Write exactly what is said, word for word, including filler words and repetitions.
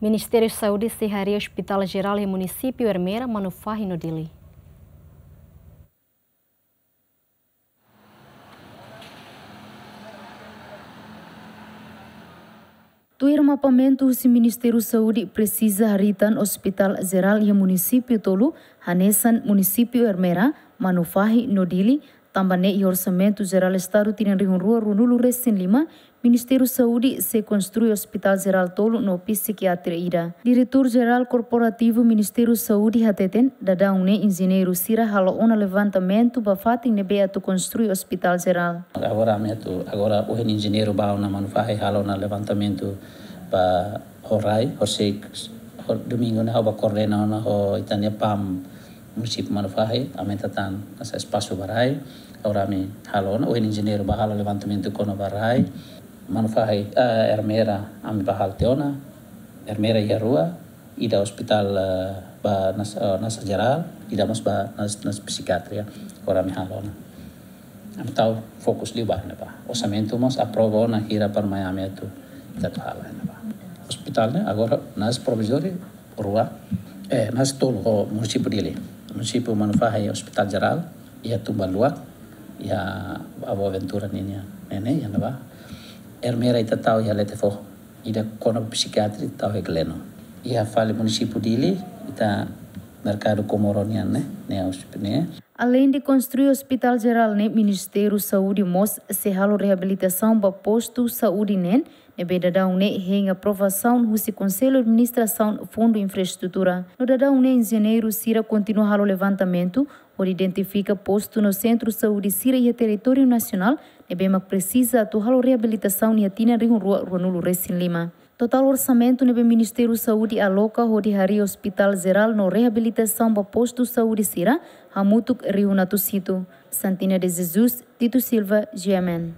Ministériu Saúde sei harii Hospital Jerál iha munisípiu Ermera, Manufahi no Dili. Tuir mapamentu husi Ministériu Saúde, presiza harii tan Hospital Jerál iha munisípiu tolu, hanesan munisípiu Ermera, Manufahi no Dili, tanba ne'e iha Orsamentu Jerál Estadu tinan rihun rua ruanulu resin lima, Ministériu Saúde sei konstrui Hospital Jerál tolu no psikiatria ida. Diretór Jerál Korporativu Ministériu Saúde hateten, daudaun ne'e enjeñeiru sira halo ona levantamentu ba fatin ne'ebé atu konstrui Hospital Jerál. Agora ami atu, agora ohin enjeñeiru bá ona Manufahi halo ona levantamentu ba ho rai, ho sei, ho domingu ne'e ha'u bá koordena ona ho ita-nia PAM munisípiu Manufahi, aumenta tan hanesan espasu ba rai. Agora ami halo ona, ohin enjeñeiru bá halo levantamentu kona-ba rai. Manufahi, eh, Ermera, ami bá halo tiha ona. Ermera iha rua, ida hospital, eh, ba nasa, eh, nasa jerál, ida mós ba nas, nas psikiatria. Agora ami halo ona. Ami tau fokus liu ba ne'ebá. Orsamentu mós aprova ona hira para mai ami atu, ita atu halo ne'ebá. Hospital ne'e agora nasa provizóriu rua, eh, nasa tolu ho munisípiu Dili. Munisípiu Manufahi Hospital Jerál, iha Tumbaluak, iha Avó Ventura ninia ne'e, iha ne'ebá. Ermera ita tau iha Lete Foho. Ida kona-ba psikiatria tau iha Gleno. Iha fali munisípiu Dili, ita Merkadu Komoro nian ne'e, ne'e hospital ne'e. Aleinde konstrui Hospital Jerál ne'e, Ministériu Saúde mós sei halo reabilitasaun ba postu saúde neen, ne'ebé daudaun ne'e hein aprovasaun husi Konsellu Administrasaun Fundu Infraestrutura. No daudaun ne'e enjeñeiru sira kontinua halo levantamentu, hodi identifika postu no sentru saúde sira iha territóriu nasionál, ne'ebé mak presiza atu halo reabilitasaun iha tinan rihun rua ruanulu resin lima. Totál orsamentu ne'ebé Ministériu Saúde aloka hodi harii Hospital Jerál no reabilitasaun ba postu saúde sira, hamutuk rihun atus hitu. Santina de Jesus, Tito Silva, G M N.